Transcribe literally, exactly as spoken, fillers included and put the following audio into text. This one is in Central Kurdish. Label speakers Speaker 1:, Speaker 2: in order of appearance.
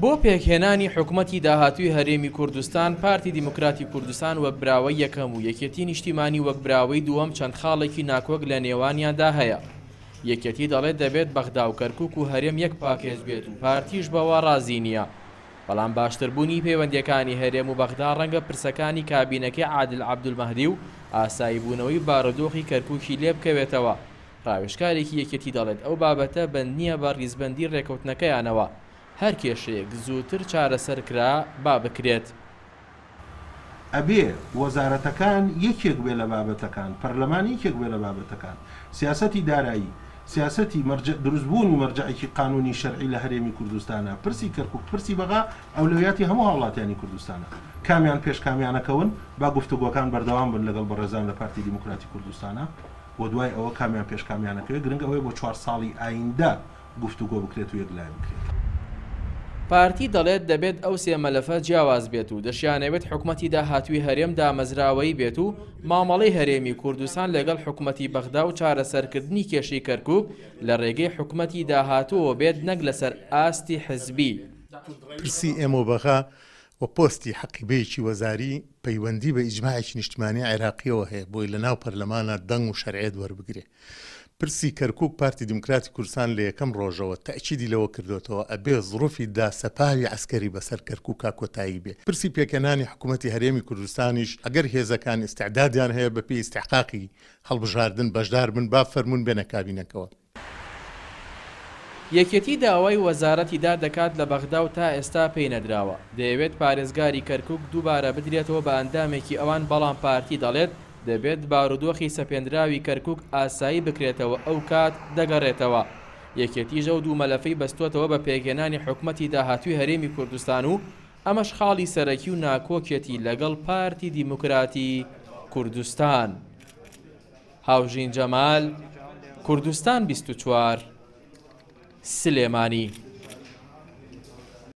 Speaker 1: بۆ پێکهێنانی حکومەتی داهاتووی هەرێمی کوردستان، پارتی دیموکراتی کوردستان وەک براوەی یەکەم و یەکێتی نیشتیمانی وەک براوەی دووەم چەند خاڵێکی ناکۆک لە نێوانیاندا هەیە. یەکێتی دەڵێت دەبێت بەغدا و کەرکوک و هەرێم یەک پاکێج بێت و پارتیش بەوە ڕازی نییە. بەڵام باشتربوونی پەیوەندیەکانی هەرێم و بەغدا ڕەنگە پرسەکانی کابینەکەی عادل عەبدولمەهدی و ئاساییبوونەوەی بارودۆخی کەرکوکی لێ بکەوێتەوە. ڕاوێژکارێکی یەکێتی دەڵێت ئەو بابەتە بەند نییە بە ڕیزبەندی ڕێکەوتنەکەیانەوە، هەر کێشەیەک زووتر چارەسەر کرا با بکرێت.
Speaker 2: ئەبێ وەزارەتەکان یەکێک بێ لە بابەتەکان، پەرلەمان یەکێک بێ لە بابەتەکان، سیاسەتی دارایی، سیاسەتی دروستبوونی مەرجەعێکی قانونی شەرعی لە هەرێمی کوردستانە، پرسی کەرکوک، پرسی بەغا ئەولەویاتی هەموو هاوڵاتیانی کوردستانە. کامیان پێش کامیانەکەون با گفتوگۆکان بەردەوام بن لەگەڵ بەڕێزان لە پارتی دیموکراتی کوردستانە و دوای ئەوە کامیان پێش کامیانەکەوێت. گرنگ ئەوەیە بۆ چوار ساڵی ئایندە گفتوگۆ بکرێت و یەکلای بکرێت.
Speaker 1: پارتی دەڵێت دەبێت ئەو سێ مەلەفە جیاواز بێت و دەشیانەوێت حکومەتی داهاتووی هەرێم دامەزراوەیی بێت و مامەڵەی هەرێمی کوردستان لەگەڵ حکومەتی بەغدا و چارەسەرکردنی کێشەی کەرکوک لە ڕێگەی حکومەتی داهاتووەوە بێت نەک لەسەر ئاستی حزبی.
Speaker 3: پرسی ئێمە و بەغا و پۆستی حەقیبەیەکی وەزاری پەیوەندی بە ئیجماعێکی نیشتمانی عێراقیەوە هەیە بۆی لە ناو پەرلەمانە دەنگ و شەرعیەت وەربگرێ. پرسی کەرکوک پارتی دیموکراتی کوردستان لە یەکەم ڕۆژەوە تەئکیدی لەوە کردوێتەوە ئەبێ زڕوفی داسەپاوی عەسکەری بەسەر کەرکوکا کۆتایی بێ. پرسی پێکهێنانی حکوومەتی هەرێمی کوردستانیش ئەگەر هێزەکان ئیستعدادیان هەیە بە پێی ئیستحقاقی هەڵبژاردن بەشدار بن با فەرمونون بێنە کابینەکەوە.
Speaker 1: یەکێتی داوای وەزارەتی داد دەکات لە بەغدا و تا ئێستا پێی نەدراوە. دەیەوێت پارێزگاری کەرکوک دووبارە بدرێتەوە بە ئەندامێکی ئەوان، بەڵام پارتی دەڵێت دەبێت بارودۆخی سەپێنراوی کەرکوک ئاسایی بکرێتەوە ئەو کات دەگەڕێتەوە. یەکێتیش ئەو دوو مەلەفەی بەستۆتەوە بە پێکهێنانی حکومەتی داهاتووی هەرێمی کوردستان و ئەمەش خاڵی سەرەکی و ناکۆکێتی لەگەڵ پارتی دیموکراتی کوردستان. هاوژین جەمال، کوردستان بیست و چوار، سلێمانی.